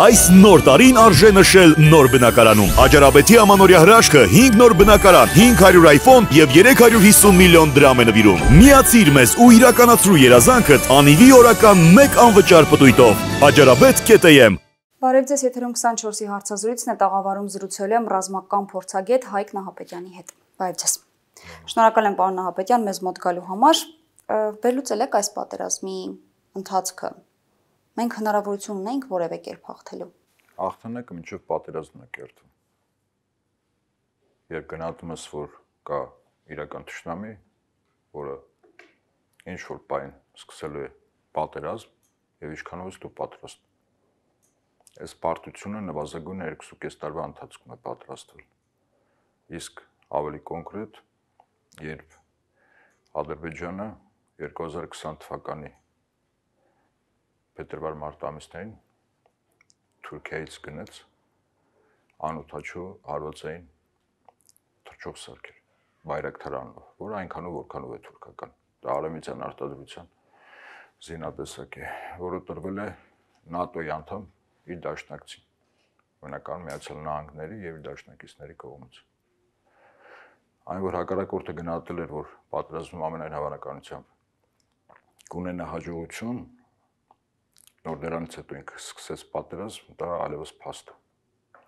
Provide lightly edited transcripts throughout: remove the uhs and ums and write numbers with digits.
Այս նոր տարին արժե նշել նոր բնակարանում։ Աջարաբեթի ամանորյա հրաշքը 5 նոր բնակարան, 500 iPhone եւ 350 միլիոն դրամ է նվիրում։ Միացիր մեզ ու իրականացրու երազանքդ անիվի օրական 1 անվճար պտույտով։ Աջարաբեթ.am Բարև ձեզ, եթերում 24-ի հարցազրույցն է, տաղավարում զրուցել եմ ռազմական փորձագետ Հայկ Նահապետյանի հետ։ Բարև ձեզ։ Շնորհակալ եմ պարոն Նահապետյան մեզ մոտ գալու համար։ Վերլուծել եք այս պատերազմի ընթացքը։ Մենք հնարավորություն ունենք որևէ կերպ հաղթելու։ Հաղթանակը մինչև պատերազմն է կերտվում։ Երբ գնահատում ես, որ կա իրական թշնամի, որը ինչ որ բան սկսելու է պատերազմ եւ ինչքանով ես դու պատրաստ։ Այս պարտությունը նվազագույնը 2.5 տարվա ընթացքում է պատրաստվել։ Իսկ ավելի կոնկրետ, երբ Ադրբեջանը 2020 թվականի փետրվար-մարտ ամիսներին Թուրքիայից գնաց անօթաչու հարվածային թռչող սարքեր, բայրակթար անունով, որը այնքանով որքանով է թուրքական։ Դա արևմտյան արտադրության զինատեսակ է, որը տրվել է ՆԱՏՕ-ի անդամ իր դաշնակցին, Միացյալ Նահանգների եւ իր դաշնակիցների կողմից։ Այն որ հակառակորդը գնահատել էր, որ պատերազմում ամենայն հավանականությամբ կունենա հաջողություն, նոր դրանից հետո ինքը սկսեց պատերազմ, դա այլևս փաստ է։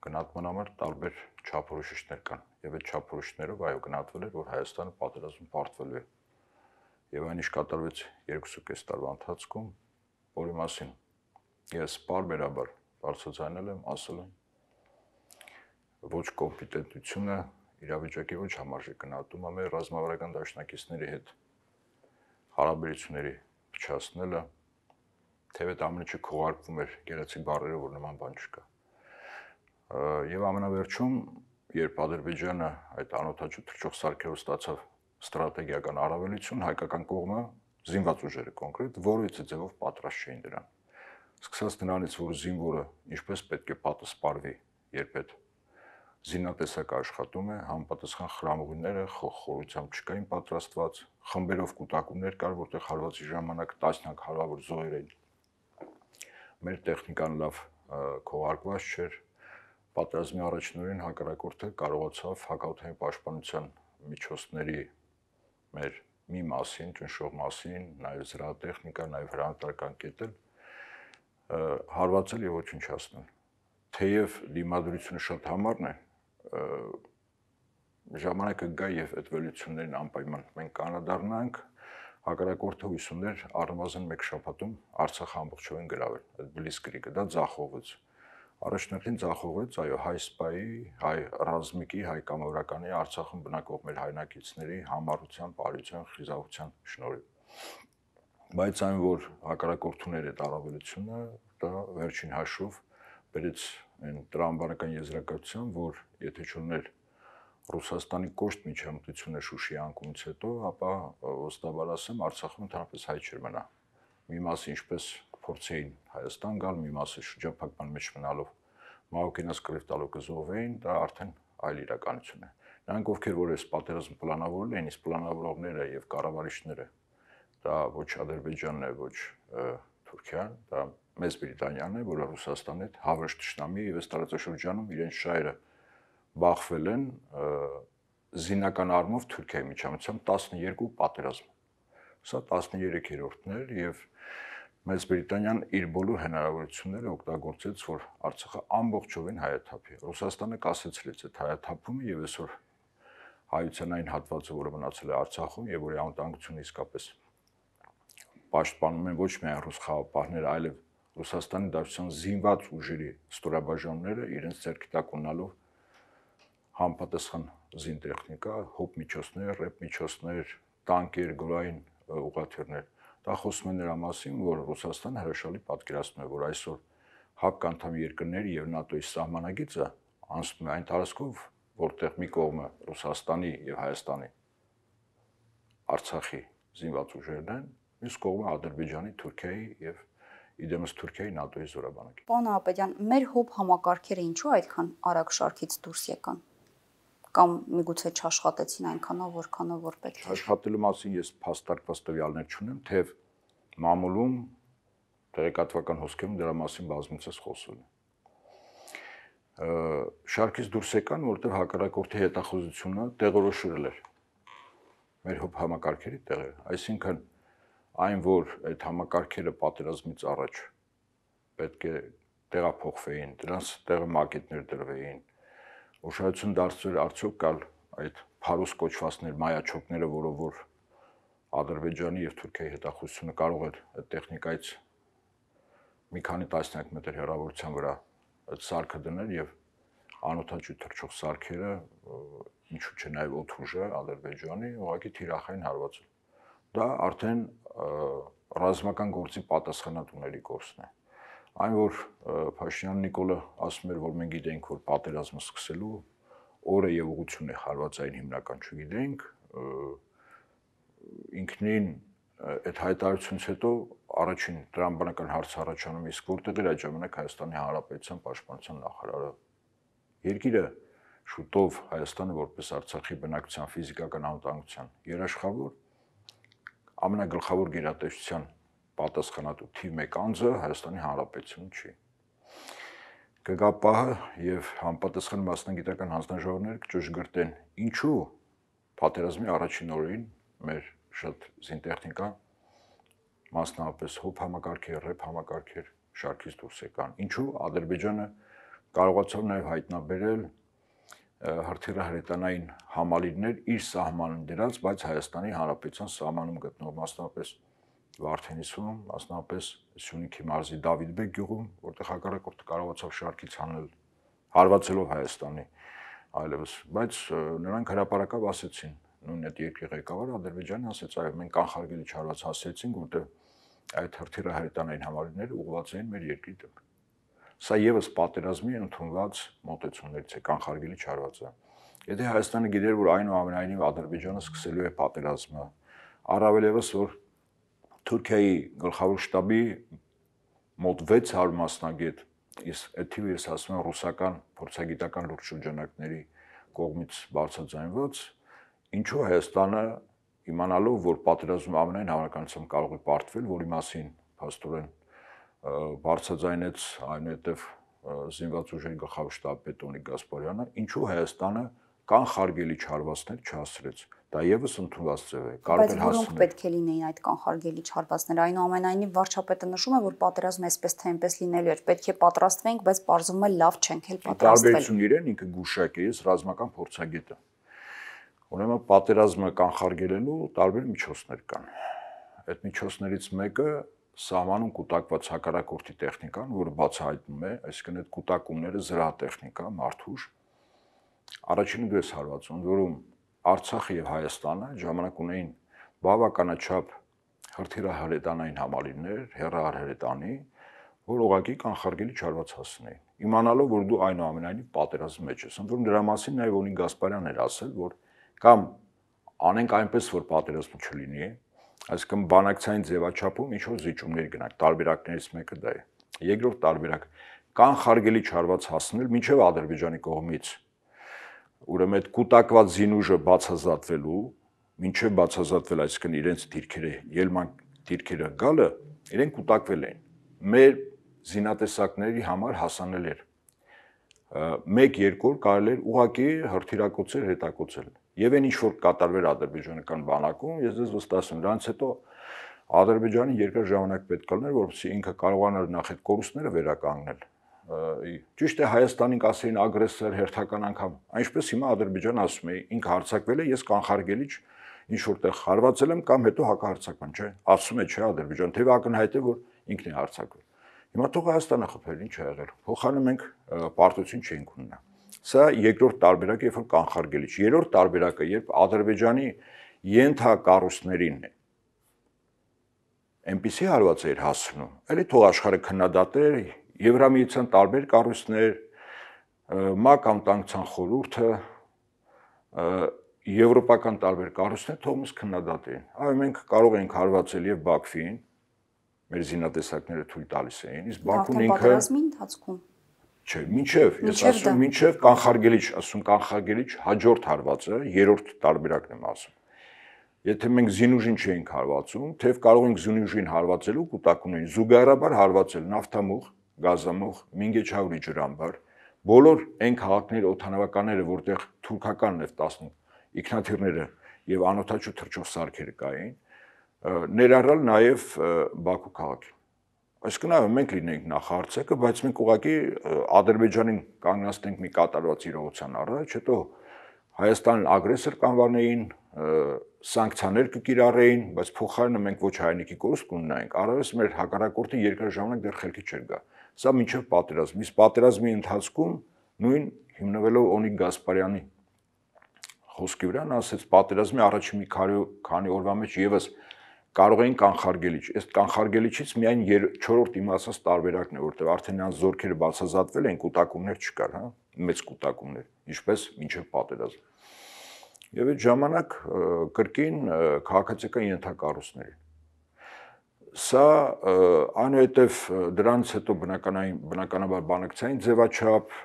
Գնահատման համար տարբեր չափորոշիչներ կան, եւ այդ չափորոշիչներով այո գնահատվել էր, որ Հայաստանը պատերազմում պարտվելու է։ Եվ այն ինչ կատարվեց 2.5 տարվա ընթացքում, որի մասին ես պարբերաբար բարձրացնել եմ, ասել եմ, ոչ կոմպետենտությունը իրավիճակի ոչ համարժեք գնահատումը մեր ռազմավարական դաշնակիցների հետ հարաբերությունների փչացնելը, թեև այդ ամենը չքողարկվում էր գեղեցիկ բառերով, որ նման բան չկա։ Եվ ամենավերջում, երբ Ադրբեջանը այդ անօթաչու թռչող սարքերով ստացավ ստրատեգիական առավելություն, հայկական կողմը զինված ուժերը կոնկրետ որևիցե ձևով պատրաստ չէին դրան։ Սկսած նրանից, որ զինվորը ինչպես պետք է պատասպարվի, երբ այդ զինատեսակը աշխատում է, համապատասխան խրամուղիները խորությամբ չկային պատրաստված, խմբերով կուտակումներ կար, որտեղ հարվածի ժամանակ տասնյակ հարյուր զոհեր էին։ Մեր տեխնիկան լավ քողարկված չէր։ Պատերազմի առաջին օրին հակառակորդը կարողացավ հակաօդային պաշտպանության միջոցների մեր մի մասին, ճնշող մասին, նաև զրահատեխնիկա, նաև հրանատարական կետել հարվածել եւ ոչնչացնել։ Թեև դիմադրությունը շատ համառն է, ժամանակը գա եւ այդ վերլուծություններին անպայման մենք կանադառնանք, հակառակորդը հույս ուներ առնվազն 1 շաբաթում Արցախը ամբողջովին գրավել, այդ բլիցկրիգը, դա ձախողվեց։ Առաջնորդին ձախողվեց, այո, հայ սպայի, հայ ռազմիկի, հայ կամավորականի Արցախում բնակվող մեր հայրենակիցների համառության, բարության, խիզախության շնորհիվ։ Բայց այն, որ հակառակորդուներ այդ առավելությունը, դա վերջին հաշվով բերեց այն տրամաբանական եզրակացության, որ եթե չուներ Ռուսաստանի կոշտ միջամտությունը Շուշիի անկումից հետո, ապա ոստաբար ասեմ, Արցախում ընդհանրապես հայ չէր մնա։ Մի մասը ինչպես փորձեին Հայաստան գալ, մի մասը շրջափակման մեջ մնալով Մահոկենաց կռիվ տալով կզոհվեին, դա արդեն այլ իրականություն է։ Նրանք ովքեր որ այս պատերազմը պլանավորել էին, իսկ պլանավորողները եւ կառավարիչները դա ոչ Ադրբեջանն է, ոչ Թուրքիան, դա Մեծ Բրիտանիան է, որը Ռուսաստանի հետ հավերժ թշնամի եւ այս տարածաշրջանում իրենց շահերը բախվել են զինական առումով Թուրքիայի միջամտությամբ 12 պատերազմ։ Սա 13-րդն էր եւ Մեծ Բրիտանիան իր բոլոր հնարավորությունները օգտագործեց, որ Արցախը ամբողջովին հայաթափի։ Ռուսաստանը կասեցրեց այդ հայաթափումը եւ այսօր հայության այն հատվածը, որը մնացել է Արցախում եւ որի անվտանգությունը իսկապես պաշտպանում են ոչ միայն ռուս խաղապահները, այլև Ռուսաստանի Դաշնության զինված ուժերի ստորաբաժանումները իրենց ձեռքի տակ ունենալով համապատասխան զինտեխնիկա, հոբ միջոցներ, ռեփ միջոցներ, տանկեր, գրային ուղղաթիռներ։ Դա խոսում է նրա մասին, որ Ռուսաստանը հրաշալի պատկերացնում է, որ այսօր ՀԱՊԿ անդամ երկրների եւ ՆԱՏՕ-ի սահմանագիծը անցնում է այն տարածքով, որտեղ մի կողմը Ռուսաստանի եւ Հայաստանի Արցախի զինված ուժերն են, մյուս կողմը Ադրբեջանի, Թուրքիայի եւ իդեմս Թուրքիայի ՆԱՏՕ-ի զորաբանակի։ Պարոն Նահապետյան, մեր հոբ համակարգերը ինչու այդքան արագ շարքից դուրս եկան։ Կամ միգուցե չաշխատեցին այնքանով, որքանով որ պետք է։ Աշխատելու մասին ես փաստարկված տվյալներ չունեմ, թեև մամուլում տեղեկատվական հոսքերում դրա մասին բազմիցս խոսել է։ Շարքից դուրս եկան, որտեղ հակառակորդի հետախուզությունը տեղորոշվել էր մեր համակարգերի տեղը, այսինքն այն, որ այդ համակարգերը պատերազմից առաջ պետք է տեղափոխվեին, դրանց տեղը մակետներ դրվեին, ուշադրություն դարձվել արդյոք կալ այդ փարուս կոչվածներ, մայաչոկները, որով որ Ադրբեջանի եւ Թուրքիայի հետախուզությունը կարող էր այդ տեխնիկայից մի քանի տասնյակ մետր հեռավորության վրա այդ սարքը դնել եւ անօթաչու թռչող սարքերը, ինչու՞ չէ նաեւ օդուժը Ադրբեջանի ուղղակի թիրախային հարվածել։ Դա արդեն ռազմական գործի պատասխանատուների գործն է։ Այն որ Փաշինյան Նիկոլը ասում էր, որ մենք գիտենք, որ պատերազմը սկսելու օրը եւ ուղղությունն է հարվածային հիմնական չգիտենք, ինքնին այդ հայտարարությունից հետո առաջին տրամաբանական հարց առաջանում, իսկ որտեղ էր այդ ժամանակ Հայաստանի Հանրապետության պաշտպանության նախարարը։ Երկիրը շուտով Հայաստանը որպես Արցախի բնակչության ֆիզիկական անվտանգության երաշխավոր ամենագլխավոր գերատեսչության պատասխանատու թիվ 1 անձը Հայաստանի Հանրապետություն չի։ Կգա պահը եւ համապատասխան մասնագիտական հանձնաժողովները կճշգրտեն, ինչու պատերազմի առաջին օրերին մեր շատ զինտեխնիկա, մասնավորապես հոբ համակարգեր, ռեփ համակարգեր շարքից դուրս եկան։ Ինչու Ադրբեջանը կարողացավ նաեւ հայտնաբերել հրթիռահրետանային համալիրներ իր սահմանում դրած, բայց Հայաստանի Հանրապետության սահմանում գտնող, մասնավորապես Վարդենիսում, մասնավորապես Սյունիքի մարզի Դավիթբեկ գյուղում, որտեղ հակառակորդը կարողացավ շարքից հանել, հարվածելով Հայաստանի այլևս, բայց նրանք հրապարակավ ասեցին, նույն այդ երկրի ղեկավարը Ադրբեջանը ասեց, այո, մենք կանխարգելիչ հարված հասցրեցինք, որտեղ այդ հրթիռահրետանային համալիրները ուղղված էին մեր երկրի դեմ։ Սա եւս պատերազմի ընդունված մոտեցումներից է, կանխարգելիչ հարվածը։ Եթե Հայաստանը գիտեր, որ այնուամենայնիվ Ադրբեջանը սկսելու է պատերազմը, առավել եւս որ Թուրքիայի գլխավոր շտաբի մոտ 600 մասնագետ, իսկ այդ թիվը ես ասում եմ ռուսական փորձագիտական լուրջ շրջանակների կողմից բարձրաձայնված, ինչու Հայաստանը իմանալով, որ պատերազմը ամենայն հավանականությամբ կարող է պարտվել, որի մասին փաստորեն բարձրաձայնեց այնուհետև զինված ուժերի գլխավոր շտաբի Տոնիկ Գասպարյանը, ինչու Հայաստանը կանխարգելիչ հարվածներ չհասցրեց։ Դա եւս ընդունված ձև է, կարող է հասնել։ Բայց որոնք պետք է լինեին այդ կանխարգելիչ հարվածները, այնուամենայնիվ վարչապետը նշում է, որ պատերազմը այսպես թե այնպես լինելու էր, պետք է պատրաստվենք, բայց պարզվում է լավ չենք էլ պատրաստվել։ Տարբերություն իրեն ինքը գուշակ է, ես ռազմական փորձագետ եմ։ Ուրեմն պատերազմը կանխարգելելու տարբեր միջոցներ կան։ Այդ միջոցներից մեկը սահմանում կուտակված հակառակորդի տեխնիկան, որը բացահայտվում է, այսինքն այդ կուտակումները զրահատեխնիկա, մարդուժ, առաջինը դες հարվածում, որում Արցախը եւ Հայաստանը ժամանակ ունեին բավականաչափ հրթիռահրետանային համալիրներ, հեռահրետանի, որ ուղղակի կանխարգելիչ հարված հասցնեին։ Իմանալով, որ դու այնուամենայնիվ պատերազմի մեջ ես, ընդ որում դրա մասին նաեւ Օնիկ Գասպարյանն էր ասել, որ կամ անենք այնպես, որ պատերազմ չլինի, այսինքն բանակցային ձևաչափում ինչ որ զիջումներ գնանք, տարբերակներից մեկը դա է։ Երկրորդ տարբերակ կանխարգելիչ հարված հասնել մինչև Ադրբեջանի կողմից ուրեմն այդ կուտակված զինուժը բացազատվելու, մինչև բացազատվել, այսինքն իրենց դիրքերը, ելման դիրքերը գալը, իրենք կուտակվել էին։ Մեր զինատեսակների համար հասանել էր 1-2 օր կարելի էր ուղղակի հրթիռակոծել, հետակոծել։ Եվ այն ինչ որ կատարվեր ադրբեջանական բանակում, ես ձեզ վստահում եմ, դրանից հետո Ադրբեջանի երկար ժամանակ պետք է լիներ, որպեսզի ինքը կարողանար նախ այդ կորուստները վերականգնել։ Ճիշտ է, Հայաստանին կասեին ագրեսոր հերթական անգամ, այնպես հիմա Ադրբեջանը ասում է, ինքը հարձակվել է, ես կանխարգելիչ ինչ որտեղ հարվածել եմ կամ հետո հակահարձակման, չէ՞։ Ասում է, չէ, Ադրբեջանը, թեև ակնհայտ է, որ ինքն է հարձակվել։ Հիմա թող Հայաստանը խփել, ինչ է եղել։ Փոխանը մենք պարտություն չենք ունենա։ Սա երկրորդ տարբերակը, երբ որ կանխարգելիչ։ Երրորդ տարբերակը, երբ Ադրբեջանի ենթակառույցներին այնպիսի հարված էր հասնում, էլի թող աշխարհը քննադատեր, Եվրամիության տարբեր կառույցներ, ՄԱԿ անվտանգության խորհուրդը, եվրոպական տարբեր կառույցներ թող մեզ քննադատեն։ Այո, մենք կարող ենք հարվածել եւ Բաքվին, մեր զինատեսակները թույլ տալիս էին, իսկ Բաքուն ինքը պատերազմի ընթացքում չէ, մինչև, ես ասում մինչև կանխարգելիչ, ասում կանխարգելիչ հաջորդ հարվածը, երրորդ տարբերակն եմ ասում։ Եթե մենք զինուժին չէինք հարվածում, թեև կարող ենք զինուժին հարվածելու կուտակումներին, զուգահեռաբար հարվածել նավթամուղ, գազամուղ, Մինգեչհավրի ջրամբար, բոլոր այն քաղաքների օդանավականները, որտեղ թուրքական նեֆտ ինքնաթիռները եւ անօդաչու թռչող սարքերը կային, ներառյալ նաեւ Բաքու քաղաքի։ Այսինքն մենք լինենք նախարարցակը, բայց մենք ուղղակի Ադրբեջանին կանգնացնենք մի կատարված իրողության առաջ, հետո Հայաստանն ագրեսոր կանվանեին, սանկցիաներ կկիրառեին, բայց փոխարենը մենք ոչ հայրենիքի կորուստ կունենայինք, առավելս մեր հակառակորդը երկար ժամանակ դեռ խելքի չէր գա։ Սա մինչև պատերազմ։ Իսկ պատերազմի ընթացքում նույն հիմնվելով Օնիկ Գասպարյանի խոսքի վրա, նա ասեց պատերազմի առաջին մի քանի օրվա մեջ եւս կարող էին կանխարգելիչ։ Այս կանխարգելիչից միայն 4-րդ իմացած տարբերակն է, որտեղ արդեն նրանց զորքերը բացազատվել են, կուտակումներ չկար, հա, մեծ կուտակումներ, ինչպես մինչև պատերազմ։ Եվ այդ ժամանակ կրկին քաղաքացիական ենթակառույցների։ Սա այնուհետև դրանից հետո բնականաբար բանակցային ձևաչափ,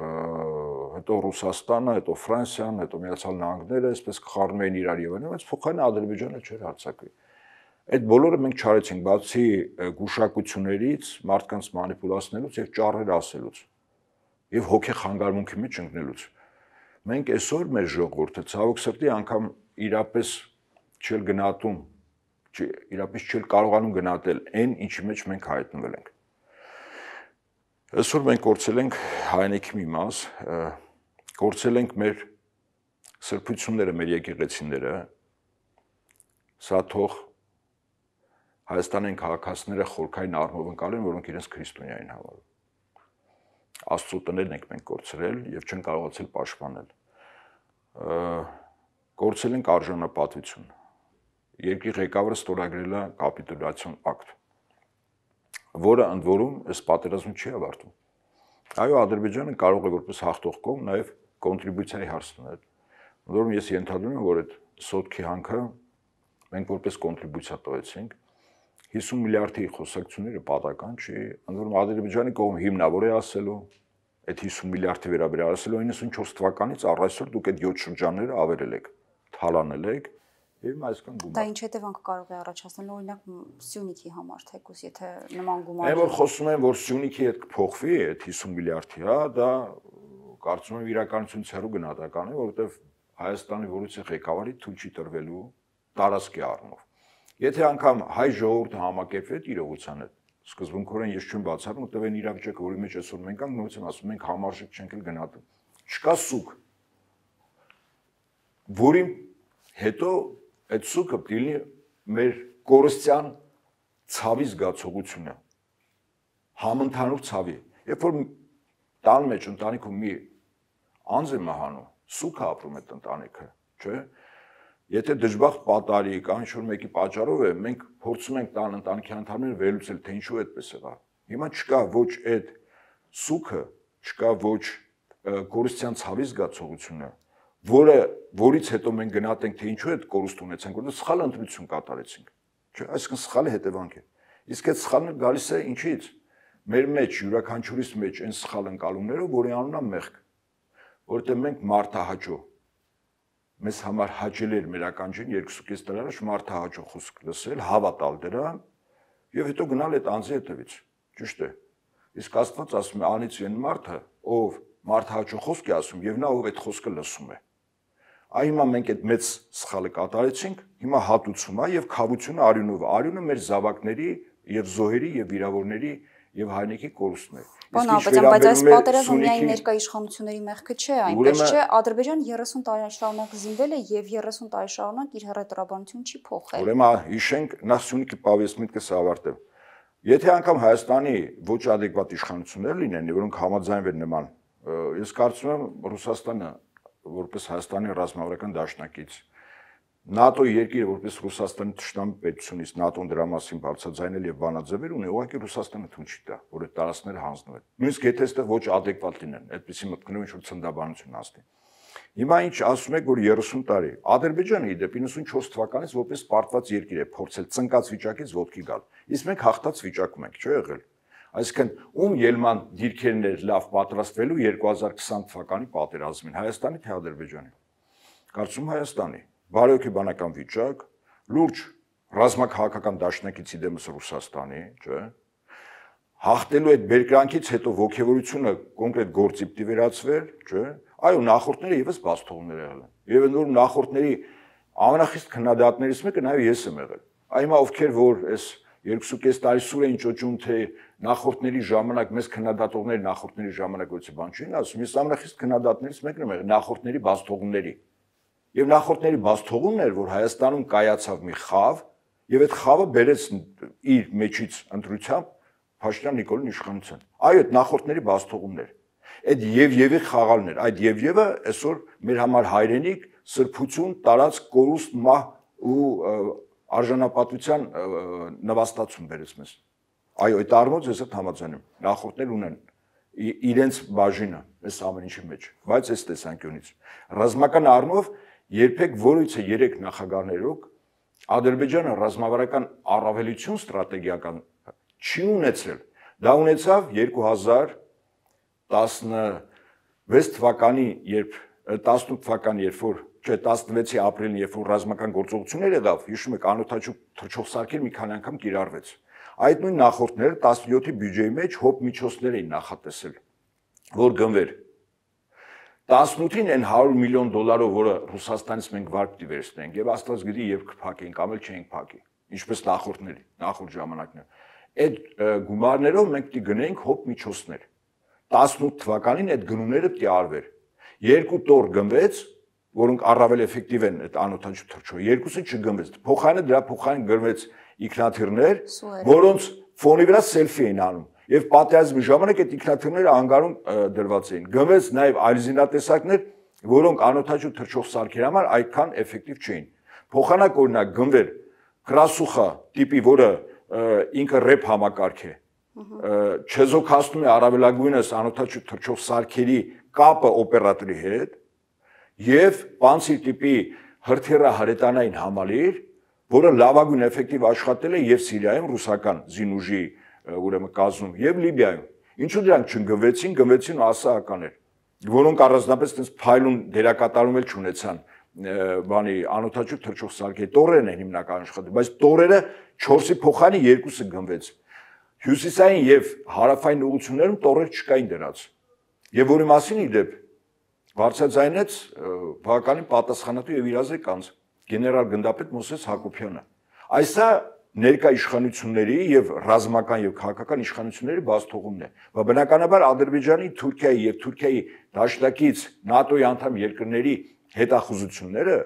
հետո Ռուսաստանը, հետո Ֆրանսիան, հետո Միացյալ Նահանգները, այսպես կխառնում էին իրար եւ այլն, բայց փոխարենը Ադրբեջանը չէր հարձակվի։ Այդ բոլորը մենք չարեցինք, բացի գուշակություններից, մարդկանց մանիպուլացնելուց եւ ճառեր ասելուց եւ հոգի խանգարումքի մեջ ընկնելուց։ Մենք այսօր մեր ժողովուրդը ցավոք սրտի անգամ իրապես չել գնահատում, իրապես չել կարողանում գնահատել այն, ինչի մեջ մենք հայտնվել ենք։ Այսօր մենք կորցրել ենք հայրենիքի մի մաս, կորցրել ենք մեր սրբությունները, մեր եկեղեցիները, սա թող Հայաստանային քաղաքացիները խորքային առումով ընկալեն, որոնք իրենց քրիստոնյա են համարում։ Աստծո տներն ենք մենք կորցրել եւ չեն կարողացել պաշտպանել։ Կորցրել ենք արժանապատվություն։ Երկրի ղեկավարը ստորագրել է կապիտուլյացիոն ակտ, որը ընդ որում այս պատերազմը չի ավարտում։ Այո, Ադրբեջանը կարող է որպես հաղթող կողմ նաեւ կոնտրիբուցիայի հարց տանել։ Ընդ որում ես ենթադրում եմ, որ այդ սոտքի հանքը մենք որպես կոնտրիբուցիա տվեցինք 50 միլիարդի խոսակցությունները պատական չի, ընդ որում Ադրբեջանի կողմ հիմնավոր է ասելու, այդ 50 միլիարդի վերաբերյալ ասելու 94 թվականից առ այսօր դուք այդ 7 շրջանները ավերել եք, թալանել եք, եւ հիմա այսքան գումար։ Դա ինչ հետևանք կարող է առաջացնել, օրինակ Սյունիքի համար, թեկուզ եթե նման գումար։ Այն որ խոսում են, որ Սյունիքի հետ կփոխվի այդ 50 միլիարդի, հա, դա կարծում եմ իրականությունից հեռու գնահատական է, որովհետեւ Հայաստանի որոշի ղեկավարի թույլ չի տրվելու տարածքի առումով։ Եթե անգամ հայ ժողովուրդը համակերպվի այդ իրողության հետ, սկզբունքորեն ես չեմ բացառում, որտեղ այն իրավիճակը, որի մեջ այսօր մենք ենք, նույնիսկ ասում ենք համարժեք չենք էլ գնահատում։ Չկա սուկ, որի հետո այդ սուկը դիլի մեր կորստյան ցավի զգացողությունը, համընդհանուր ցավի։ Երբ որ տան մեջ ընտանիքում մի անձ է մահանում, սուկը ապրում է ընտանիքը, չէ՞։ Եթե դժբախտ պատարի կամ ինչ-որ մեկի պատճառով է, մենք փորձում ենք տան ընտանիքի անդամները վերլուծել, թե ինչու այդպես եղավ։ Հիմա չկա ոչ այդ սուկը, չկա ոչ կորստյան ցավի զգացողությունը, որից հետո մենք գնահատենք, թե ինչու այդ կորուստ ունեցանք, որովհետեւ սխալ ընտրություն կատարեցինք։ Չէ՞, այսինքն սխալի հետևանք է։ Իսկ այդ սխալը գալիս է ինչից։ Մեր մեջ յուրաքանչյուրիս մեջ այն սխալ ընկալումներով, որի անունն է մեղք, որովհետեւ մենք մարդահաճո մեզ համար հաճել էր մեր ականջին 2.5 տարի առաջ մարդահաճո խոսք լսել, հավատալ դրան եւ հետո գնալ այդ անձի հետևից։ Ճիշտ է։ Իսկ Աստված ասում է, անից այն մարդը, ով մարդահաճո խոսք է ասում եւ նա ով այդ խոսքը լսում է։ Այ հիմա մենք այդ մեծ սխալը կատարեցինք, հիմա հատուցում է եւ քավությունը արյունով։ Արյունը մեր զավակների եւ զոհերի եւ վիրավորների եւ հայրենիքի կորուստն է։ Բայց այս պատերազմը միայն ներկա իշխանությունների մեղքը չէ, այնպես չէ, Ադրբեջանը 30 տարի շարունակ զինվել է եւ 30 տարի շարունակ իր հռետորաբանությունը չի փոխել։ Ուրեմն հիշենք նախ Սյունիքի պավեսմիտքս ավարտել։ Եթե անգամ Հայաստանի ոչ adekvat իշխանություններ լինեն, որոնք համաձայնվեն նման, ես կարծում եմ Ռուսաստանը որպես Հայաստանի ռազմավարական դաշնակից ՆԱՏՕ երկիրը որպես Ռուսաստանի թշնամի պետությունից ՆԱՏՕ-ն դրա մասին բարձրաձայնել եւ բանաձևեր ունի, ուղղակի Ռուսաստանը թույլ չի տա, որ այդ տարածքները հանձնվեն։ Նույնիսկ եթե այստեղ ոչ adekvat լինեն, այդպեսի մտքներով ինչ-որ ցնդաբանություն ասնի։ Հիմա ինչ ասում եք, որ 30 տարի Ադրբեջանը իդեպ 94 թվականից որպես պարտված երկիր է փորձել ծնկած վիճակից ոտքի գալ։ Իսկ մենք հաղթած վիճակում ենք, չէ՞ եղել։ Այսինքն ում ելման դիրքերն էր լավ պատրաստվելու 2020 թվականի պատերազմին, Հայաստանի թե Ադրբեջանի։ Կարծում Հայաստանի բարոյական վիճակ, լուրջ ռազմաքաղաքական դաշնակիցի դեմս Ռուսաստանի, չէ՞։ Հաղթելու այդ բերկրանքից հետո ողջավորությունը կոնկրետ գործի պիտի վերածվեր, չէ՞։ Այո, նախորդները եւս բացթողումներ եղել են։ Եվ նոր նախորդների ամենախիստ քննադատներից մեկը նաեւ ես եմ եղել։ Այմա ովքեր որ այս 2.5 տարի սուր էին ճոճում, թե նախորդների ժամանակ մեզ քննադատողների նախորդների ժամանակ ոչի բան չէին ասում, ես ամենախիստ քննադատներից մեկն եմ եղել նախորդների բացթողումների։ Եվ նախորդների բացթողումն էր, որ Հայաստանում կայացավ մի խավ, եւ այդ խավը բերեց իր մեջից ընտրությամբ Փաշինյան Նիկոլին իշխանության։ Այո, այդ նախորդների բացթողումներ։ Այդ եւ-եւի խաղալն էր, այդ եւ-եւը այսօր մեր համար հայրենիք, սրբություն, տարած կորուստ մահ ու արժանապատվության նվաստացում բերեց մեզ։ Այո, այդ առումով ես հետ համաձայն եմ։ Նախորդներ ունեն իրենց բաժինը այս ամեն ինչի մեջ, բայց այս տեսանկյունից ռազմական առումով երբեք որից է 3 նախագահներով Ադրբեջանը ռազմավարական առավելություն ստրատեգիական չի ունեցել։ Դա ունեցավ 2016 թվականի, երբ 18 թվականի, երբ որ 16-ի ապրիլին, երբ որ ռազմական գործողություններ եղավ, հիշում եք, անօթաչու թռչող սարքեր մի քանի անգամ կիրառվեց։ Այդ նույն նախորդները 17-ի բյուջեի մեջ հոբ միջոցներ էին նախատեսել, որ գնվեր 18-ին այն $100 միլիոն, որը Ռուսաստանից մենք վար պիտի վերցնենք, եւ Աստված գիտի երբ կփակենք, կամ էլ չենք փակի, ինչպես նախորդների, նախորդ ժամանակներ։ Այդ գումարներով մենք պիտի գնենք հոբ միջոցներ։ 18 թվականին այդ գնումները պիտի արվեր։ 2 տոր գնվեց, որոնք առավել էֆեկտիվ են այդ անօթաչու թռչող, երկուսը չգնվեց։ Փոխարենը դրա փոխարեն գնվեց ինքնաթիռներ, որոնց ֆոնի վրա սելֆի էին անում։ Եվ պատերազմի ժամանակ այդ ինքնաթիռները անգարում դրված էին։ Գնվեց նաև այլ զինատեսակներ, որոնք անօթաչու թռչող սարքերի համար այդքան էֆեկտիվ չէին։ Փոխանակ օրինակ գնվեր Կրասուխա տիպի, որը ինքը ռեփ համակարգ է, չեզոքացնում է առավելագույնս անօթաչու թռչող սարքերի կապը օպերատորի հետ, եւ Պանցիր տիպի հրթիռահրետանային համալիր, որը լավագույն էֆեկտիվ աշխատել է եւ Սիրիայում ռուսական զինուժի ուրեմն կազմում եւ Լիբիայում։ Ինչու դրանք չգնվեցին, գնվեցին ասահականներ, որոնք առանձնապես այնպես փայլուն դերակատարում էլ չունեցան բանի անօթաչու թռչող սարքերի տորերն են հիմնական աշխատել, բայց տորերը 4-ի փոխարեն 2-ը գնվեց։ Հյուսիսային եւ հարավային ուղություններում տորեր չկային դրած։ Եվ որի մասին իդեպ բարձրաձայնեց բավականին պատասխանատու եւ իրազեկ անձ գեներալ գնդապետ Մոսես Հակոբյանը։ Այսա ներկա իշխանությունների եւ ռազմական եւ քաղաքական իշխանությունների բացթողումն է։ Բայց բնականաբար Ադրբեջանի, Թուրքիայի եւ Թուրքիայի դաշնակից ՆԱՏՕ-ի անդամ երկրների հետախուզությունները,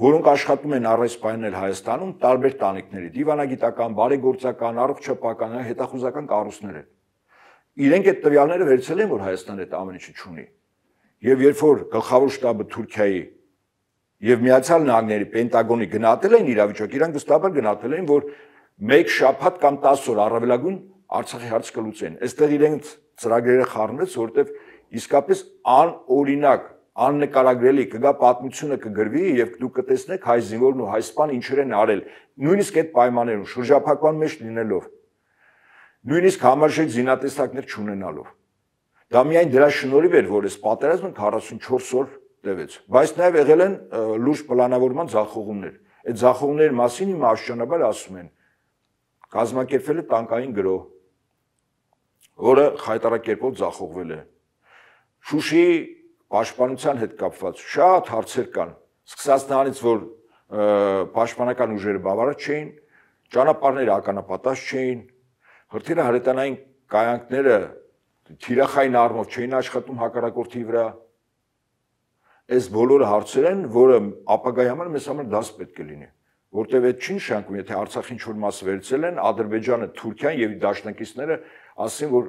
որոնք աշխատում են առայժմ սպանել Հայաստանում, տարբեր տանիքների, դիվանագիտական, բարեգործական, առողջապահական, հետախուզական կառույցներ են։ Իրենք այդ տվյալները վերցել են, որ Հայաստանը այդ ամեն ինչը չունի։ Եվ երբ որ գլխավոր շտաբը Թուրքիայի եւ Միացյալ Նահանգների Պենտագոնի գնահատել են իրավիճակը, իրանք վստահաբար գնահատել են, որ 1 շաբաթ կամ 10 օր առավելագույն Արցախի հարց կլուծեն։ Այստեղ իրենց ծրագրերը խառնվեց, որովհետեւ իսկապես անօրինակ, աննկարագրելի կգա պատմությունը կգրվի եւ դուք կտեսնեք հայ զինվորն ու հայ սպան ինչեր են արել, նույնիսկ այդ պայմաններում շրջափակման մեջ լինելով, նույնիսկ համարժեք զինատեսակներ չունենալով։ Դա միայն դրա շնորհիվ էր, որ այս պատերազմը 44 օր տևեց, բայց նաև եղել են լուրջ պլանավորման ձախողումներ։ Այդ ձախողումների մասին հիմա աշճանաբար ասում են, կազմակերպվել է տանկային գրոհ, որը խայտարակերպով ձախողվել է։ Շուշիի պաշտպանության հետ կապված շատ հարցեր կան, սկսած նրանից, որ պաշտպանական ուժերը բավարար չէին, ճանապարհները ականապատած չէին, հրթիռահրետանային կայանքները թիրախային առումով չէին աշխատում հակառակորդի վրա։ Այս բոլորը հարցեր են, որը ապագայի համար մեզ համար դաս պետք է լինի, որտեղ այդ չի նշանակում, եթե Արցախի ինչ-որ մասը վերցել են, Ադրբեջանը, Թուրքիան եւ դաշնակիցները ասեն, որ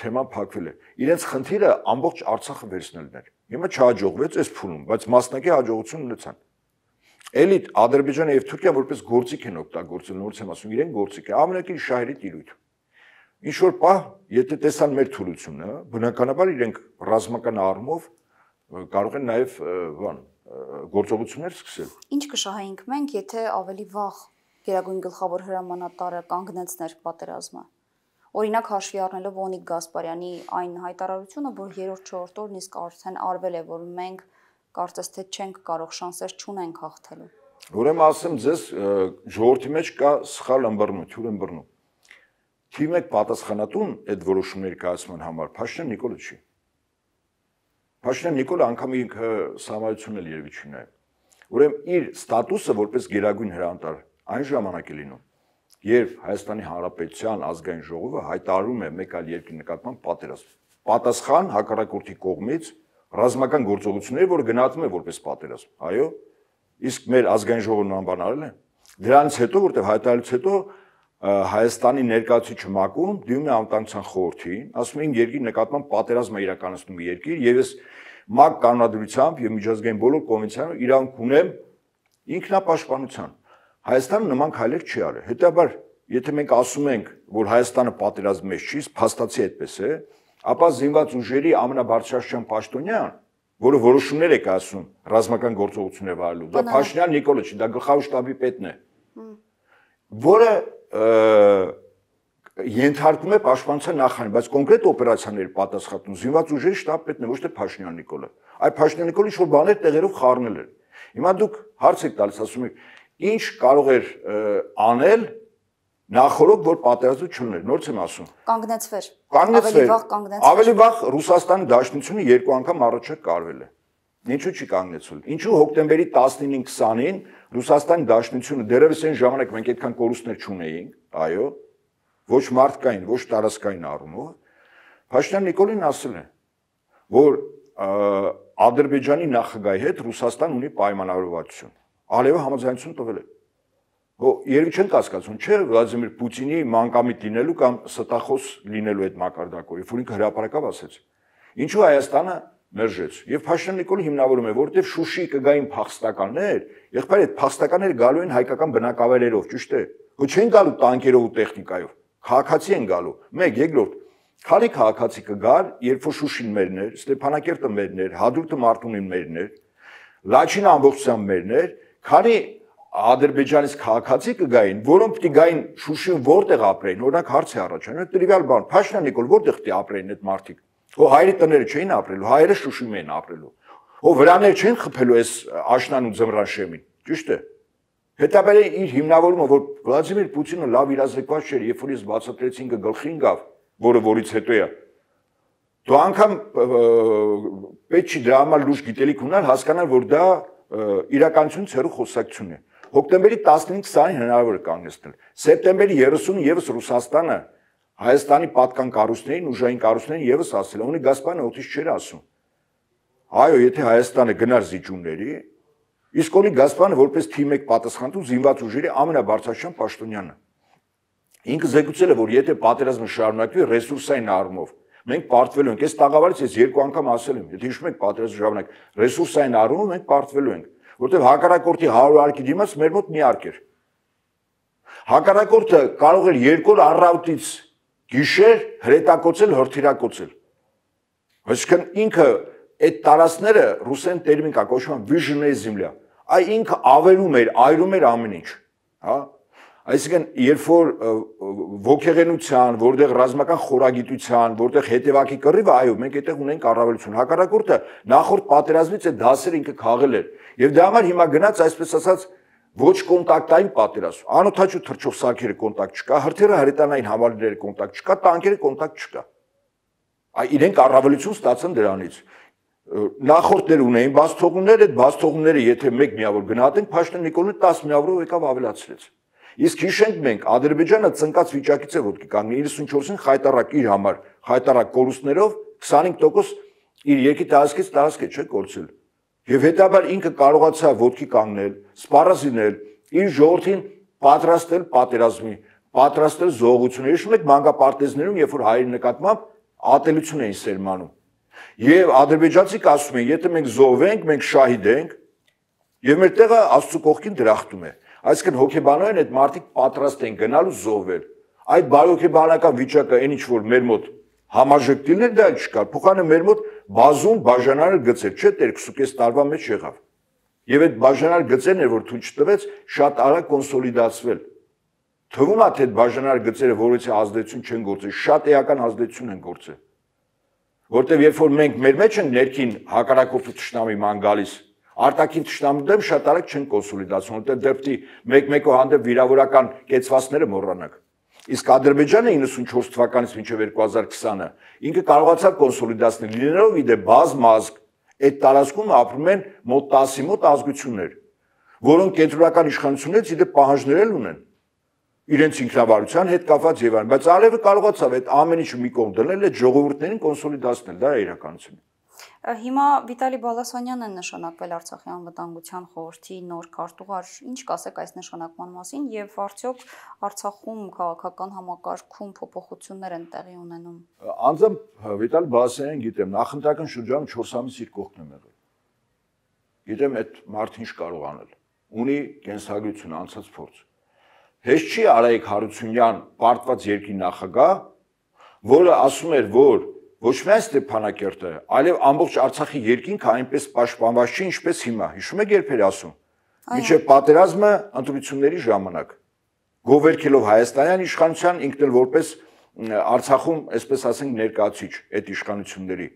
թեման փակվել է։ Իրենց խնդիրը ամբողջ Արցախը վերցնելն էր։ Հիմա չհաջողվեց այս փուլում, բայց մասնակի հաջողություն ունեցան։ Էլի Ադրբեջանը եւ Թուրքիան որպես գործիք են օգտագործել, նորից եմ ասում, իրեն գործիք է, ամենակի շահերի տիրույթ։ Ինչ որ պահ, եթե տեսան մեր թուլությունը, բնականաբար իրենք ռազմական առումով կարող են նաև գործողություններ սկսել։ Ինչ կշահենք մենք, եթե ավելի վաղ Գերագույն գլխավոր հրամանատարը կանգնեցներ պատերազմը։ Օրինակ հաշվի առնելով Օնիկ Գասպարյանի այն հայտարարությունը, որ 3-4 օրն իսկ արդեն արվել է, որ մենք կարծես թե չենք կարող շանսեր չունենք հաղթելու։ Ուրեմն ասեմ ձեզ ժողովրդի մեջ կա սխալ ըմբռնում, թյուր ըմբռնում։ Թիվ 1 պատասխանատուն այդ որոշումների կայացման համար Փաշինյան Նիկոլը չի։ Փաշինյան Նիկոլը անգամ ինքը սահմանությունն էլ երևի չի նայում։ Ուրեմն իր ստատուսը որպես գերագույն հրամանտար այն ժամանակ է լինում, երբ Հայաստանի Հանրապետության ազգային ժողովը հայտարարում է մեկ այլ երկրի նկատմամբ պատերազմ։ Պատասխան հակառակորդի կողմից ռազմական գործողությունների, որը գնահատվում է որպես պատերազմ։ Այո, իսկ մեր ազգային ժողովը նման բան արել է։ Դրանից հետո, որտեղ հայտարարից հետո Հայաստանի ներկայացուցիչ ՄԱԿ-ում դիմում է Անվտանգության խորհրդին, ասում է երկրի նկատմամբ պատերազմ է իրականացնում երկիր, եւ ես ՄԱԿ կանոնադրությամբ եւ միջազգային բոլոր կոնվենցիաներով իրավունք ունեմ ինքնապաշտպանության։ Հայաստանը նման քայլեր չի արել։ Հետաբար, եթե մենք ասում ենք, որ Հայաստանը պատերազմի մեջ չի, փաստացի այդպես է, ապա զինված ուժերի ամենաբարձրաստիճան պաշտոնյան, որը որոշումներ է կայացնում ռազմական գործողություններ վարելու, դա Փաշինյան Նիկոլը չի, դա գլխավոր շտաբի պետն է, որը ենթարկում է պաշտպանության նախարարին, բայց կոնկրետ օպերացիաների պատասխանում զինված ուժերի շտաբ պետն է, ոչ թե Փաշինյան Նիկոլը։ Այդ Փաշինյան Նիկոլը ինչ-որ բաներ տեղերով խառնել էր։ Հիմա դուք հարց եք տալիս, ասում եք, ինչ կարող էր անել նախորդ, որ պատերազմը չլիներ, նորից եմ ասում։ Կանգնեցվեր։ Կանգնեցվեր։ Ավելի վաղ Ռուսաստանի Դաշնությունը 2 անգամ առաջ կարվել է։ Ինչու չի կանգնեցվել։ Ինչու հոկտեմբերի 19-ին 20-ին Ռուսաստանի Դաշնությունը դեռևս այն ժամանակ մենք այդքան կորուստներ չունեինք, այո, ոչ մարդկային, ոչ տարածքային առումով, Փաշինյան Նիկոլին ասել է, որ Ադրբեջանի նախագահի հետ Ռուսաստան ունի պայմանավորվածություն։ Ալիևը համաձայնություն տվել է։ Երևի չեն կասկածում, չէ, Վլադիմիր Պուտինի մանկամիտ լինելու կամ ստախոս լինելու այդ մակարդակով, որ ինքը հրապարակավ ասեց։ Ինչու Հայաստանը մերժեց։ Եվ Փաշինյան Նիկոլը հիմնավորում է, որովհետև Շուշիի կգային փախստականներ, եղբայր այդ փախստականները գալու են հայկական բնակավայրերով, ճիշտ է։ Ոչ չեն գալու տանկերով ու տեխնիկայով, քաղաքացի են գալու։ Մեկ, երկրորդ, քանի քաղաքացի կգար, երբ որ Շուշին մերն էր, Ստեփանակերտը մերն էր, Հադրութը Մարտունին մերն էր, Լաչինը ամբողջությամբ մերն էր, քանի Ադրբեջանից քաղաքացի կգային, որոնք պիտի գային Շուշիում որտեղ ապրեին, օրինակ հարց է առաջանում, տրիվիալ բան, Փաշինյան Նիկոլ որտեղ պիտի ապրեին այդ մարդիկ։ Հայերի տները չէին ապրելու, հայերը Շուշիում էին ապրելու։ Վրաներ չեն խփելու այս աշնան ու ձմռան շեմին, ճիշտ է։ Հետաբար իր հիմնավորումը, որ Վլադիմիր Պուտինը լավ իրազեկված չէր, երբ որ ես բացատրեցի ինքը գլխի ընկավ, որից հետո է։ Դու անգամ պետք չի դրա համար լուրջ գիտելիք ունենալ, հասկանալ, որ դա իրականությունից հեռու խոսակցություն է։ Հոկտեմբերի 19-20-ին հնարավոր է կանգնեցնել։ Սեպտեմբերի 30-ին եւս Ռուսաստանը Հայաստանի պատկան կառույցներին, ուժային կառույցներին եւս ասել է, ունի Գասպարյանը օդից չէր ասում։ Այո, եթե Հայաստանը գնար զիջումների, իսկ ունի Գասպարյանը որպես թիվ 1 պատասխանատու զինված ուժերի ամենաբարձրաստիճան պաշտոնյանը։ Ինքը զեկուցել է, որ եթե պատերազմը շարունակվի ռեսուրսային առումով, մենք պարտվելու ենք։ Այս տաղավարից ես 2 անգամ ասել եմ, եթե հիշում եք պատերազմը ժամանակ, ռեսուրսային առումով մենք պարտվելու ենք, որտեղ հակառակորդի 100 արկի դիմաց մեր մոտ մի արկ էր։ Հակառակորդը կարող էր 2 օր առավոտից գիշեր հրետակոծել, հրթիռակոծել։ Այսինքն ինքը այդ տարածքները ռուսեն տերմին կա կոչվում վիժնեյ զիմլյա։ Այ ինքը ավերում էր, այրում էր ամեն ինչ, հա։ Այսինքն երբ որ ոգեղենության, որտեղ ռազմական խորագիտության, որտեղ հետևակի կռիվը, այո, մենք այդտեղ ունենք առավելություն։ Հակառակորդը նախորդ պատերազմից այդ դասերը ինքը քաղել էր։ Եվ դրա համար հիմա գնաց այսպես ասած ոչ կոնտակտային պատերազմ։ Անօթաչու թռչող սարքերը կոնտակտ չկա, հրթիռը հրետանային համալիրները կոնտակտ չկա, տանկերը կոնտակտ չկա։ Այ իրենք առավելություն ստացան դրանից։ Նախորդներ ունեին բացթողումներ, այդ բացթողումները եթե մեկ միավոր գնահատենք, Փաշինյան Նիկոլը 10 միավորով եկավ ավելացրեց։ Իսկ հիշենք մենք, Ադրբեջանը ծնկած վիճակից է ոտքի կանգնել 94-ին խայտարակ իր համար, խայտարակ կորուստներով 25% իր երկի տարածքից տարածք է չէ կորցել։ Եվ հետաբար ինքը կարողացավ ոտքի կանգնել, սպառազինել, իր ժողովրդին պատրաստել պատերազմի, պատրաստել զոհությունների, հիշում եք մանկապարտեզներում, երբ որ հայերի նկատմամբ ատելություն էին սերմանում։ Եվ ադրբեջանցիք ասում են, եթե մենք զոհվենք, մենք շահիդ ենք, եւ մեր տեղը Աստծո կողքին դրախտում է։ Այսինքն հոգեբանորեն այդ մարդիկ պատրաստ են գնալու զոհվել։ Այդ բարոյհոգեբանական վիճակը այն ինչ որ մեր մոտ համաժեշտիլներ դա չկար, փոխանը մեր մոտ բազում բաժանար գծեր, չէ՞, 2.5 տարվա մեջ եղավ։ Եվ այդ բաժանար գծերն էր, որ թույլ չտվեց շատ արագ կոնսոլիդացվել։ Թվում է թե այդ բաժանար գծերը որից ազդեցություն չեն գործել, շատ էական ազդեցություն են գործել։ Որտեւ երբ որ մենք մեր մեջ ենք ներքին հակառակորդու ճշնամի ման գալիս, Արտաքին թշնամու դեմ շատ արագ չեն կոնսոլիդացվում, որտեղ դեպի մեկ-մեկու հանդեպ վիրավորական կեցվածները մոռանանք։ Իսկ Ադրբեջանը 94 թվականից մինչև 2020-ը ինքը կարողացավ կոնսոլիդացնել, լինելով իդե բազմազգ, այդ տարածքում ապրում են մոտ 10-ի մոտ ազգություններ, որոնք կենտրոնական իշխանություններից իդե պահանջներ ունեն իրենց ինքնավարության հետ կապված եւ այլն, բայց Ալիևը կարողացավ այդ ամեն ինչը մի կողմ դնել, այդ ժողովուրդներին կոնսոլիդացնել, դա է իրականությունը։ Հիմա Վիտալի Բալասանյանն է նշանակվել Արցախի անվտանգության խորհրդի նոր քարտուղար, ինչ կասեք այս նշանակման մասին եւ արդյոք Արցախում քաղաքական համակարգում փոփոխություններ են տեղի ունենում։ Անձամբ Վիտալի Բալասանյանին գիտեմ, նախընտրական շրջանում 4 ամիս իր կողքն եմ եղել։ Գիտեմ այդ մարդը ինչ կարող անել։ Ունի կենսագրություն, անցած փորձ։ Հեշտ չի Արայիկ Հարությունյան պարտված երկրի նախագահ, որը ասում էր, որ ոչ միայն Ստեփանակերտը, այլև ամբողջ Արցախի երկինքը այնպես պաշտպանված չի, ինչպես հիմա։ Հիշում եք երբ էր ասում։ Մինչև պատերազմը ընտրությունների ժամանակ գովերքելով հայաստանյան իշխանության ինքն էլ որպես Արցախում, այսպես ասենք, ներկայացիչ այդ իշխանությունների։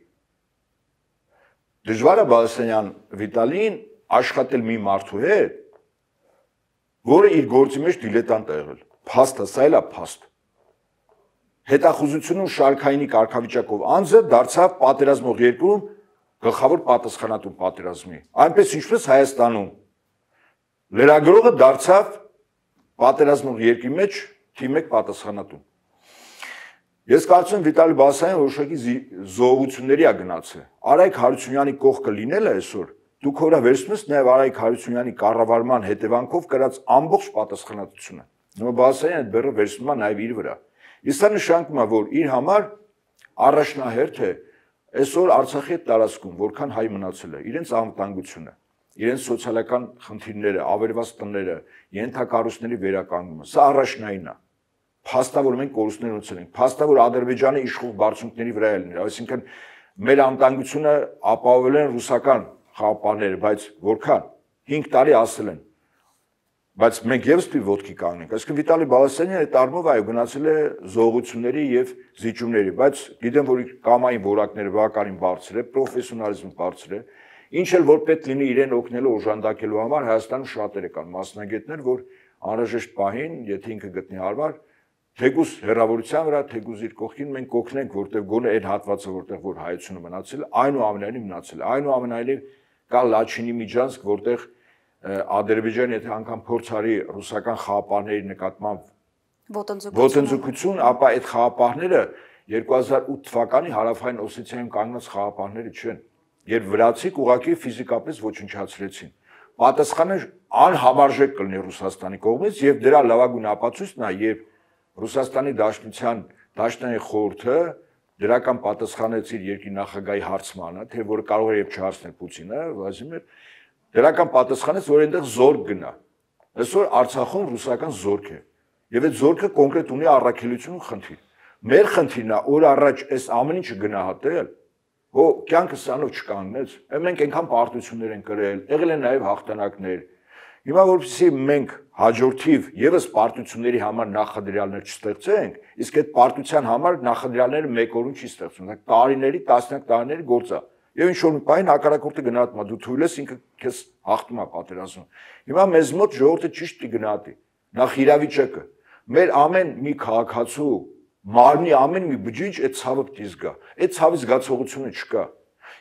Դժվար է Բալասանյան Վիտալին աշխատել մի մարդու հետ, որը իր գործի մեջ դիլետանտ է եղել։ Փաստը, սա էլ է փաստ։ Հետախուզությունում շարքայինի կարգավիճակով անձը դարձավ պատերազմող երկրում գլխավոր պատասխանատու պատերազմի։ Այնպես ինչպես Հայաստանում լրագրողը դարձավ պատերազմող երկրի մեջ թիմի 1 պատասխանատու։ Ես կարծում եմ Վիտալի Բալասանյանը որոշակի զոհությունների է գնացել։ Արայիկ Հարությունյանի կողքը լինելը այսօր դուք հորա վերցնում եք նաև Արայիկ Հարությունյանի կառավարման հետևանքով կրած ամբողջ պատասխանատվությունը։ Նո Բալասանյանը այդ բեռը վերցնում է նաև իր վրա։ Իսկ դա նշանակում է, որ իր համար առաջնահերթ է այսօր Արցախի հետ տարածքում որքան հայ մնացել է, իրենց անվտանգությունը, իրենց սոցիալական խնդիրները, ավերված տները, ենթակառույցների վերականգնումը, սա առաջնայինն է։ Փաստա որ մենք կորուստներ ունեցել ենք, փաստա որ Ադրբեջանը իշխող բարձունքների վրա է լինել, այսինքն մեր անվտանգությունը ապահովել են ռուսական խաղապանները, բայց որքան 5 տարի ասել են, բայց մենք եւս պիտի ոտքի կանգնենք։ Այսինքն Վիտալի Բալասանյանը այդ առումով այո գնացել է զողությունների եւ զիջումների, բայց գիտեմ որ կամային որակները բավականին բարձր է, պրոֆեսիոնալիզմը բարձր է, ինչ էլ որ պետք լինի իրեն օգնելու օժանդակելու համար Հայաստանում շատերը կան մասնագետներ, որ անհրաժեշտ պահին, եթե ինքը գտնի հարմար, թեկուզ հերավորության վրա, թեկուզ իր կողքին մենք կօգնենք, որտեղ գոնե այդ հատվածը, որտեղ որ հայությունը մնացել, այնուամենայնիվ մնացել է, այնուամենայնիվ կա Լաչինի Միջանցք, որտեղ Ադրբեջանը եթե անգամ փորձ արի ռուսական խաղապահների նկատմամբ ոտնձգություն, ապա այդ խաղապահները 2008 թվականի հարավային Օսեթիայում կանգնած խաղապահները չեն, երբ վրացիք ուղղակի ֆիզիկապես ոչնչացրեցին։ Պատասխանը անհամարժեք կլինի Ռուսաստանի կողմից եւ դրա լավագույն ապացույցն է, երբ Ռուսաստանի Դաշնային խորհուրդը դրական պատասխանեց իր երկրի նախագահի հարցմանը, թե որ կարող է եւ չհարցնել Պուտինը, Վլադիմիր, դրական պատասխանեց, որ այնտեղ զորք գնա։ Այսօր Արցախում ռուսական զորք է։ Եվ այդ զորքը կոնկրետ ունի առաքելություն ու խնդիր։ Մեր խնդիրն է օր առաջ այս ամեն ինչը գնահատել, հո կյանքը սրանով չկանգնեց։ Մենք այնքան պարտություններ են կրել, եղել են նաեւ հաղթանակներ։ Հիմա որպեսզի մենք հաջորդիվ եւս պարտությունների համար նախադրյալներ չստեղծենք, իսկ այդ պարտության համար նախադրյալները մեկ օրում չի ստեղծվում, դա տարիների, տասնյակ տարիների գործ է։ Եվ ինչ որ մի բան հակառակորդը գնահատում է, դու թույլ ես ինքը քեզ հաղթում է պատերազմում։ Հիմա մեզ մոտ ժողովուրդը ճիշտ է գնահատի։ Նախ իրավիճակը, մեր ամեն մի քաղաքացու, մարմնի ամեն մի բջիջ այդ ցավը պիտի զգա։ Այդ ցավի զգացողությունը չկա։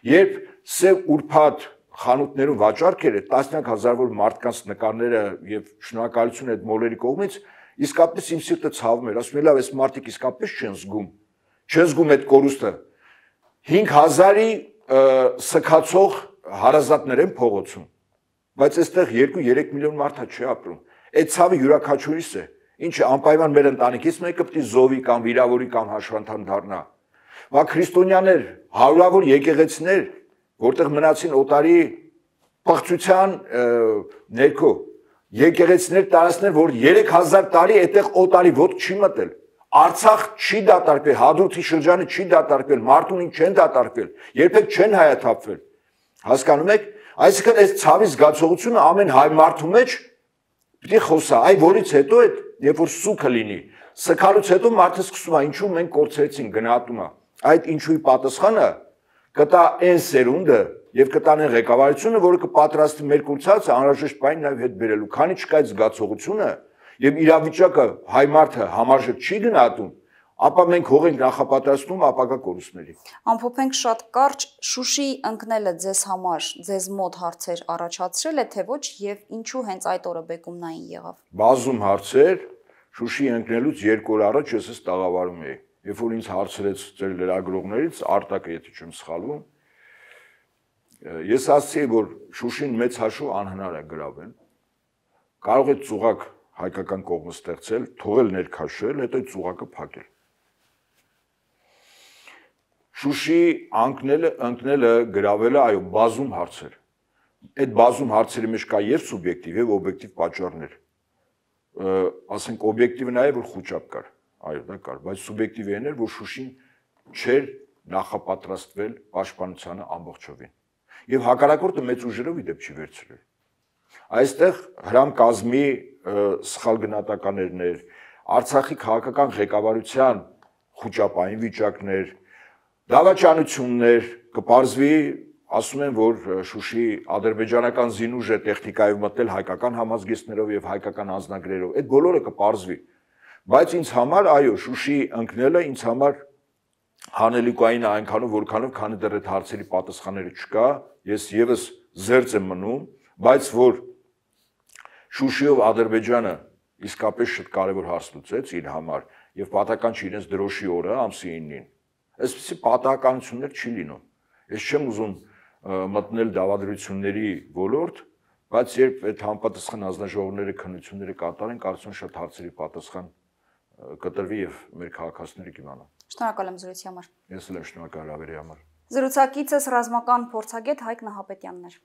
Երբ սև ուրփաթ խանութներում վաճառք էր, տասնյակ հազարավոր մարդկանց նկարները եւ շնորհակալություն այդ մոլերի կողմից, իսկապես իմ սիրտը ցավում էր, ասում եմ, լավ, այս մարդիկ իսկապես չեն զգում։ Չեն զգում այդ կորուստը։ 5000-ի սքացող հարազատներ են փողոցում, բայց այստեղ 2-3 միլիոն մարդ չի ապրում։ Այդ ցավը յուրաքանչյուրիս է, ինչը անպայման մեր ընտանիքից մեկը պիտի զոհվի կամ վիրավորի կամ հաշվանդամ դառնա։ Բա քրիստոնյաներ, հարյուրավոր եկեղեցիներ, որտեղ մնացին օտարի պղծության ներքո, եկեղեցիներ տարածքներ, որ 3000 տարի այդտեղ օտարի ոտք չի մտել։ Արցախ չի դատարկվել, Հադրութի շրջանը չի դատարկվել, Մարտունին չեն դատարկվել, երբեք չեն հայաթափվել։ Հասկանում եք, այսինքն այս ցավի զգացողությունը ամեն հայ մարդու մեջ պիտի խոսա, այ որից հետո այդ երբ որ սուքը լինի, սքալուց հետո մարդը սկսում է ինչու մենք կորցրեցինք գնահատումը։ Այդ ինչուի պատասխանը կտա այն սերունդը եւ կտանեն ղեկավարությունը, որը կպատրաստի մեր կուրսացը անհրաժեշտ բան նաեւ հետ բերելու։ Քանի չկա այդ զգացողությունը եւ իրավիճակը հայ մարդը համարժեք չի գնահատում, ապա մենք հող ենք նախապատրաստում ապագա կորուստների։ Ամփոփենք շատ կարճ, Շուշի ընկնելը ձեզ համար, ձեզ մոտ հարցեր առաջացրել է, թե ոչ եւ ինչու հենց այդ օրը բեկումնային եղավ։ Բազում հարցեր, Շուշի ընկնելուց 2 օր առաջ ես էս տաղավարում էի։ Երբ որ ինձ հարցրեց ձեր լրագրողներից, Արտակը, եթե չեմ սխալվում, ես ասացի, որ Շուշին մեծ հաշվով անհնար է գրավել։ Կարող է ծուղակ հայկական կողմը ստեղծել, թողել ներքաշել, հետո ծուղակը փակել։ Շուշի ընկնելը, գրավելը, այո, բազում հարցեր։ Այդ բազում հարցերի մեջ կա եւ սուբյեկտիվ եւ օբյեկտիվ պատճառներ։ Ասենք օբյեկտիվը նաեւ որ խոճապ կար, այո, դա կար, բայց սուբյեկտիվը այն էր, որ Շուշին չէր նախապատրաստվել պաշտպանությանը ամբողջովին։ Եվ հակառակորդը մեծ ուժերով ի դեպ չի վերցրել։ Այստեղ հրամ կազմի սխալ գնահատականներ, Արցախի քաղաքական ղեկավարության խոճապային վիճակներ, դավաճանություններ, կպարզվի, ասում են, որ Շուշի ադրբեջանական զինուժը տեխնիկայով մտել հայկական համազգեստներով եւ հայկական անձնագրերով, այդ բոլորը կպարզվի։ Բայց ինձ համար, այո, Շուշի ընկնելը ինձ համար հանելուկային այնքանով, որքանով, քանի դեռ այդ հարցերի պատասխանները չկա, ես եւս զերծ եմ մնում, բայց որ Շուշիով Ադրբեջանը իսկապես շատ կարևոր հարց լուծեց իր համար եւ պատահական չի իրենց դրոշի օրը ամսի 9-ին։ Այսպիսի պատահականություններ չի լինում։ Ես չեմ ուզում մտնել դավադրությունների ոլորտ, բայց երբ այդ համապատասխան հանձնաժողովները քննությունները կատարեն, կարծում եմ շատ հարցերի պատասխան կտրվի եւ մեր քաղաքացիները կիմանան։ Շնորհակալ եմ զրույցի համար։ Ես էլ եմ շնորհակալ հավերի համար։ Զրուցակիցս ռազմական փորձագետ Հայկ Նահապետյանն էր։